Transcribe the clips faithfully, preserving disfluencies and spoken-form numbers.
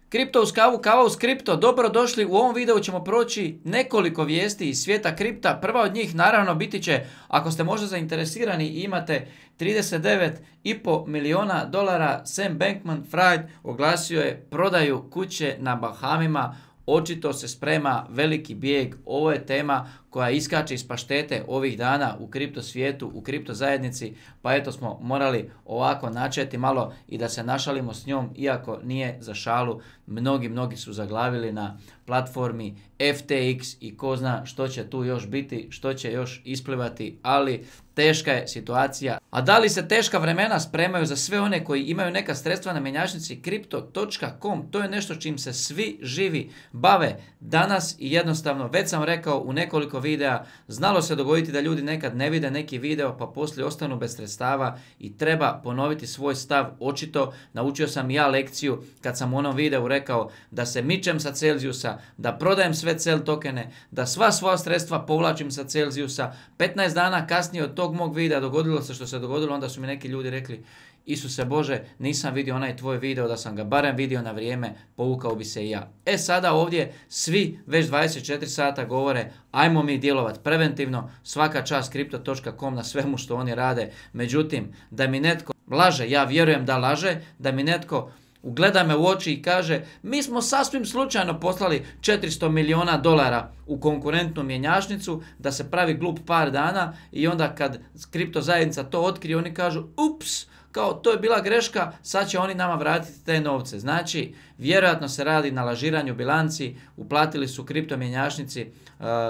Kripto uz kavu, kava uz kripto, dobrodošli. U ovom videu ćemo proći nekoliko vijesti iz svijeta kripta. Prva od njih naravno biti će, ako ste možda zainteresirani i imate trideset devet i pol milijuna dolara, Sam Bankman-Fried oglasio je prodaju kuće na Bahamima. Očito se sprema veliki bijeg. Ovo je tema koja iskače iz paštete ovih dana u kripto svijetu, u kripto zajednici, pa eto smo morali ovako načeti malo i da se našalimo s njom, iako nije za šalu. Mnogi, mnogi su zaglavili na platformi F T X i ko zna što će tu još biti, što će još isplivati, ali teška je situacija. A da li se teška vremena spremaju za sve one koji imaju neka sredstva na mjenjačnici kripto točka com? To je nešto čim se svi živi bave danas i jednostavno, već sam rekao u nekoliko videa, znalo se dogoditi da ljudi nekad ne vide neki video pa poslije ostanu bez sredstava i treba ponoviti svoj stav. Očito naučio sam i ja lekciju kad sam u onom videu rekao da se mičem sa Celzijusa, da prodajem sve Cel tokene, da sva svoja sredstva povlačim sa Celzijusa. petnaest dana kasnije od tog mog videa dogodilo se što se dogodilo, onda su mi neki ljudi rekli: Isuse Bože, nisam vidio onaj tvoj video, da sam ga barem vidio na vrijeme, povukao bi se i ja. E sada ovdje svi već dvadeset četiri sata govore ajmo mi djelovati preventivno, svaka čast kripto točka com na svemu što oni rade. Međutim, da mi netko laže, ja vjerujem da laže, da mi netko ugleda me u oči i kaže mi smo sasvim slučajno poslali četiristo milijuna dolara u konkurentnu mjenjačnicu, da se pravi glup par dana i onda kad kripto zajednica to otkrije oni kažu ups, kao to je bila greška, sad će oni nama vratiti te novce. Znači, vjerojatno se radi na lažiranju bilanci, uplatili su kripto mjenjačnici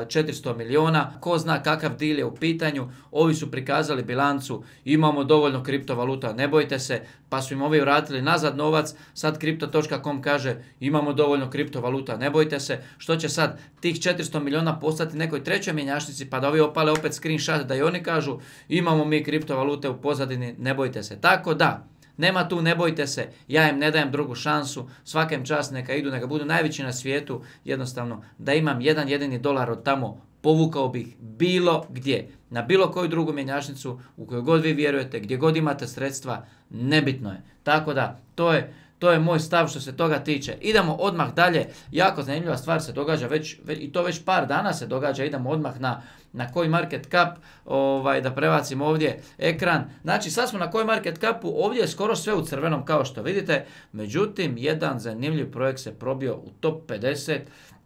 četiristo milijuna, ko zna kakav deal je u pitanju, ovi su prikazali bilancu, imamo dovoljno kriptovaluta, ne bojte se, pa su im ovi vratili nazad novac, sad kripto točka com kaže imamo dovoljno kriptovaluta, ne bojte se, što će sad tih četiristo milijuna postati nekoj trećoj mjenjačnici pa da ovi opale opet screenshot da i oni kažu imamo mi kriptovalute u pozadini, ne bojte se. Tako da, nema tu ne bojte se, ja im ne dajem drugu šansu, svakem čas neka idu, neka budu najveći na svijetu, jednostavno da imam jedan jedini dolar od tamo, povukao bih bilo gdje, na bilo koju drugu mjenjačnicu, u kojoj god vi vjerujete, gdje god imate sredstva, nebitno je. Tako da, to je, to je moj stav što se toga tiče. Idemo odmah dalje, jako zanimljiva stvar se događa već, već i to već par dana se događa, idemo odmah na na CoinMarketCap, ovaj, da prebacim ovdje ekran. Znači sad smo na CoinMarketCapu, ovdje je skoro sve u crvenom kao što vidite, međutim jedan zanimljiv projekt se probio u top pedeset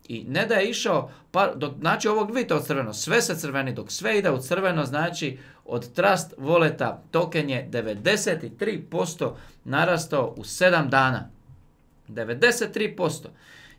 i ne da je išao, par, dok, znači ovog vidite od crveno, sve se crveni, dok sve ide u crveno, znači od Trust Walleta token je devedeset tri posto narastao u sedam dana. devedeset tri posto.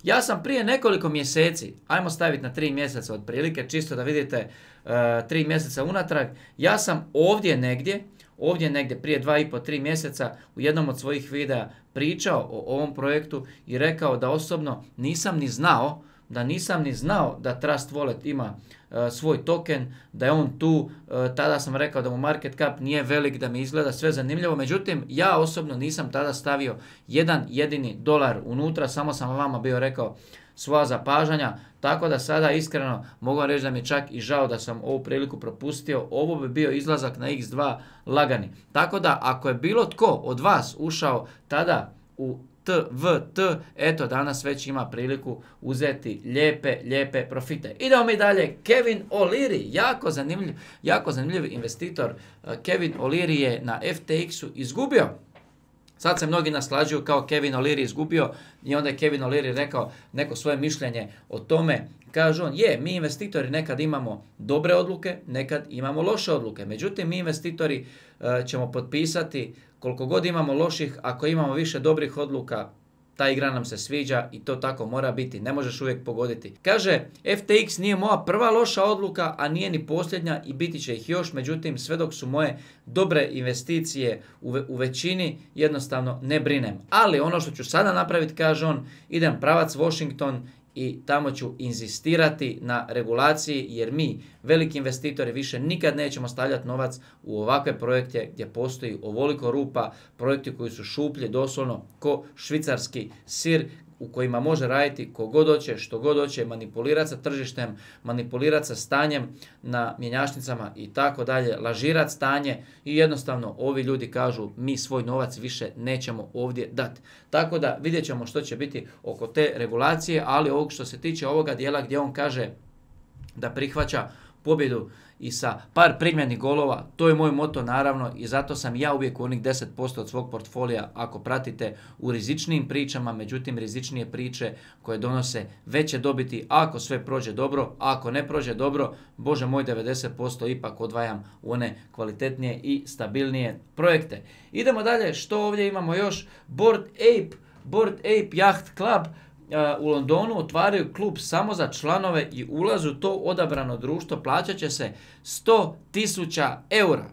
Ja sam prije nekoliko mjeseci, ajmo staviti na tri mjeseca otprilike, čisto da vidite uh, tri mjeseca unatrag, ja sam ovdje negdje, ovdje negdje prije dva i po tri mjeseca u jednom od svojih videa pričao o ovom projektu i rekao da osobno nisam ni znao, da nisam ni znao da Trust Wallet ima uh, svoj token, da je on tu, uh, tada sam rekao da mu market cap nije velik, da mi izgleda sve zanimljivo, međutim ja osobno nisam tada stavio jedan jedini dolar unutra, samo sam vama bio rekao svoja zapažanja, tako da sada iskreno mogu reći da mi je čak i žao da sam ovu priliku propustio, ovo bi bio izlazak na iks dva lagani. Tako da ako je bilo tko od vas ušao tada u T V T, eto danas već ima priliku uzeti lijepe, lijepe profite. Idemo mi dalje, Kevin O'Leary, jako zanimljiv, jako zanimljiv investitor. Kevin O'Leary je na F T X-u izgubio. Sad se mnogi naslađuju kao Kevin O'Leary izgubio i onda je Kevin O'Leary rekao neko svoje mišljenje o tome. Kaže on, je, mi investitori nekad imamo dobre odluke, nekad imamo loše odluke. Međutim, mi investitori uh, ćemo potpisati koliko god imamo loših, ako imamo više dobrih odluka, ta igra nam se sviđa i to tako mora biti, ne možeš uvijek pogoditi. Kaže, F T X nije moja prva loša odluka, a nije ni posljednja i biti će ih još, međutim sve dok su moje dobre investicije u, ve, u većini, jednostavno ne brinem. Ali ono što ću sada napraviti, kaže on, idem pravac Washington i tamo ću inzistirati na regulaciji jer mi, veliki investitori, više nikad nećemo stavljati novac u ovakve projekte gdje postoji ovoliko rupa, projekti koji su šuplji doslovno ko švicarski sir, u kojima može raditi kogod hoće, što god hoće, manipulirati sa tržištem, manipulirati sa stanjem na mjenjačnicama i tako dalje, lažirati stanje i jednostavno ovi ljudi kažu mi svoj novac više nećemo ovdje dati. Tako da vidjet ćemo što će biti oko te regulacije, ali ovog što se tiče ovoga dijela gdje on kaže da prihvaća pobjedu i sa par primljenih golova, to je moj moto naravno i zato sam ja uvijek u onih deset posto od svog portfolija ako pratite u rizičnijim pričama, međutim rizičnije priče koje donose veće dobiti ako sve prođe dobro, ako ne prođe dobro, bože moj devedeset posto ipak odvajam u one kvalitetnije i stabilnije projekte. Idemo dalje, što ovdje imamo još? Bored Ape, Bored Ape Yacht Club u Londonu otvaraju klub samo za članove i ulaz u to odabrano društvo plaćat će se sto tisuća eura.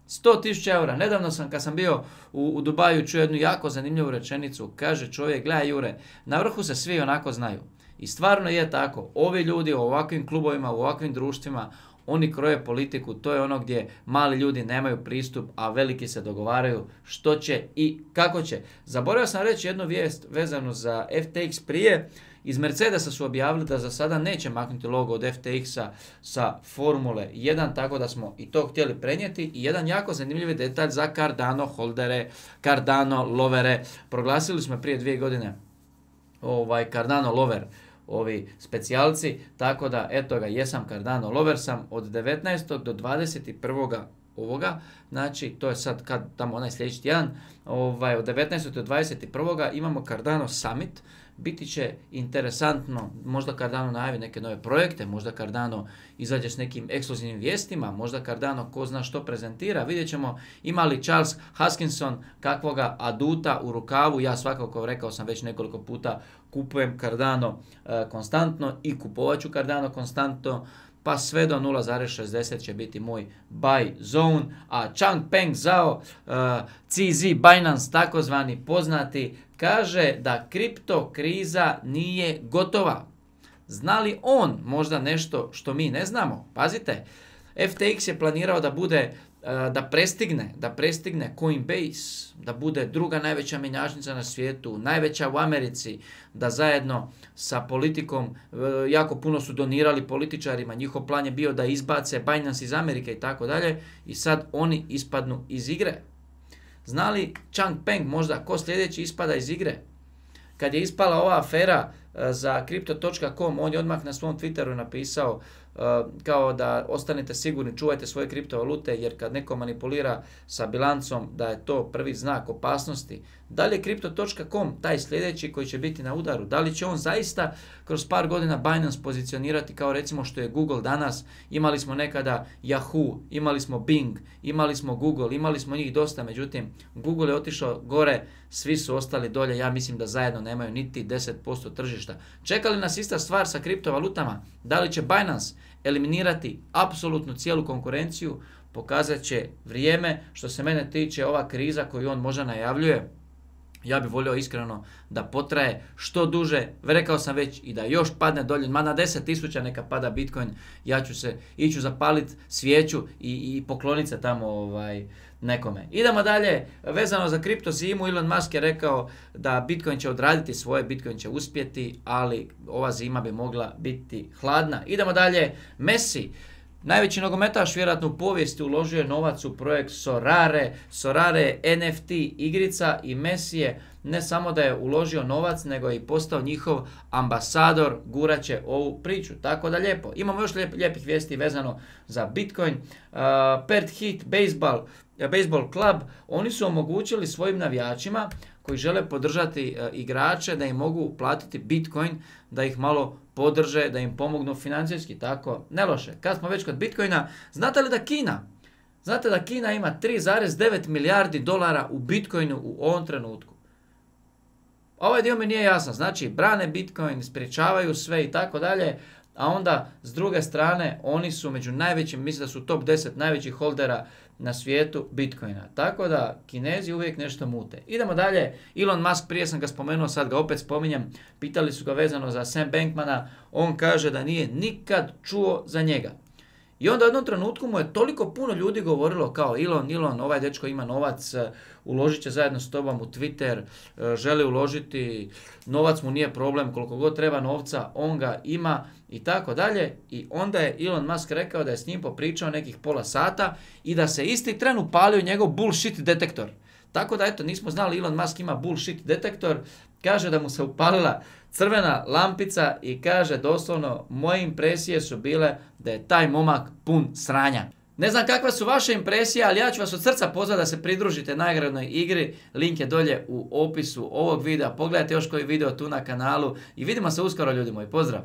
sto tisuća eura. Nedavno sam, kad sam bio u, u Dubaju, čuo jednu jako zanimljivu rečenicu. Kaže čovjek, gledaj Jure, na vrhu se svi onako znaju. I stvarno je tako. Ovi ljudi u ovakvim klubovima, u ovakvim društvima, oni kroje politiku, to je ono gdje mali ljudi nemaju pristup, a veliki se dogovaraju što će i kako će. Zaboravio sam reći jednu vijest vezanu za F T X prije. Iz Mercedesa su objavili da za sada neće maknuti logo od F T X-a sa Formule jedan, tako da smo i to htjeli prenijeti. I jedan jako zanimljivi detalj za Cardano holdere, Cardano lovere. Proglasili smo prije dvije godine ovaj Cardano lover, ovi specijalci, tako da eto ga, jesam Cardano lover sam od devetnaestog do dvadeset prvog ovoga, znači to je sad kad tamo onaj sljedeći tjedan, ovaj, od devetnaestog do dvadeset prvog imamo Cardano Summit. Biti će interesantno, možda Cardano najavi neke nove projekte, možda Cardano izađe s nekim ekskluzivnim vijestima, možda Cardano ko zna što prezentira, vidjet ćemo ima li Charles Hoskinson kakvoga aduta u rukavu. Ja svakako, rekao sam već nekoliko puta, kupujem Cardano e, konstantno i kupovat ću Cardano konstantno, pa sve do nula zarez šezdeset će biti moj buy zone, a Changpeng Zhao, uh, C Z Binance takozvani poznati, kaže da kripto kriza nije gotova. Zna li on možda nešto što mi ne znamo? Pazite, F T X je planirao da bude da prestigne, da prestigne Coinbase, da bude druga najveća mjenjačnica na svijetu, najveća u Americi, da zajedno sa politikom, jako puno su donirali političarima, njihov plan je bio da izbace Binance iz Amerike i tako dalje, i sad oni ispadnu iz igre. Zna li Changpeng možda ko sljedeći ispada iz igre? Kad je ispala ova afera za Crypto točka com, on je odmah na svom Twitteru napisao uh, kao da ostanete sigurni, čuvajte svoje kriptovalute, jer kad neko manipulira sa bilancom da je to prvi znak opasnosti. Da li je Crypto točka com taj sljedeći koji će biti na udaru? Da li će on zaista kroz par godina Binance pozicionirati kao recimo što je Google danas? Imali smo nekada Yahoo, imali smo Bing, imali smo Google, imali smo njih dosta, međutim Google je otišao gore, svi su ostali dolje, ja mislim da zajedno nemaju niti deset posto tržišta. Čeka li nas ista stvar sa kriptovalutama? Da li će Binance eliminirati apsolutnu cijelu konkurenciju? Pokazat će vrijeme. Što se mene tiče, ova kriza koju on možda najavljuje, ja bih volio iskreno da potraje što duže. Rekao sam već i da još padne dolje, ma na deset tisuća neka pada Bitcoin, ja ću se, iću zapaliti svijeću i, i pokloniti se tamo ovaj, nekome. Idemo dalje, vezano za kripto zimu, Elon Musk je rekao da Bitcoin će odraditi svoje, Bitcoin će uspjeti, ali ova zima bi mogla biti hladna. Idemo dalje, Messi. Najveći nogometaš vjerojatno u povijesti uložio je novac u projekt Sorare. Sorare je N F T igrica i Messi je ne samo da je uložio novac, nego je i postao njihov ambasador, guraće ovu priču. Tako da lijepo. Imamo još lijep, lijepih vijesti vezano za Bitcoin. Uh, Perth Heat Baseball, Baseball Club, oni su omogućili svojim navijačima koji žele podržati uh, igrače da im mogu platiti Bitcoin, da ih malo podrže, da im pomognu financijski, tako, ne loše. Kad smo već kod Bitcoina, znate li da Kina, znate da Kina ima tri zarez devet milijardi dolara u Bitcoinu u ovom trenutku? Ovaj dio mi nije jasan, znači brane Bitcoin, sprječavaju sve i tako dalje, a onda s druge strane oni su među najvećim, mislim da su top deset najvećih holdera na svijetu Bitcoina. Tako da Kinezi uvijek nešto mute. Idemo dalje, Elon Musk, prije sam ga spomenuo, sad ga opet spominjem, pitali su ga vezano za Sam Bankmana, on kaže da nije nikad čuo za njega. I onda u jednom trenutku mu je toliko puno ljudi govorilo kao Elon, Elon, ovaj dečko ima novac, uložit će zajedno s tobom u Twitter, želi uložiti, novac mu nije problem, koliko god treba novca, on ga ima i tako dalje. I onda je Elon Musk rekao da je s njim popričao nekih pola sata i da se isti tren upalio njegov bullshit detektor. Tako da eto, nismo znali Elon Musk ima bullshit detektor, kaže da mu se upalila crvena lampica i kaže doslovno moje impresije su bile da je taj momak pun sranja. Ne znam kakva su vaše impresije, ali ja ću vas od srca pozvati da se pridružite nagradnoj igri. Link je dolje u opisu ovog videa. Pogledajte još koji video tu na kanalu i vidimo se uskoro ljudi moji. Pozdrav!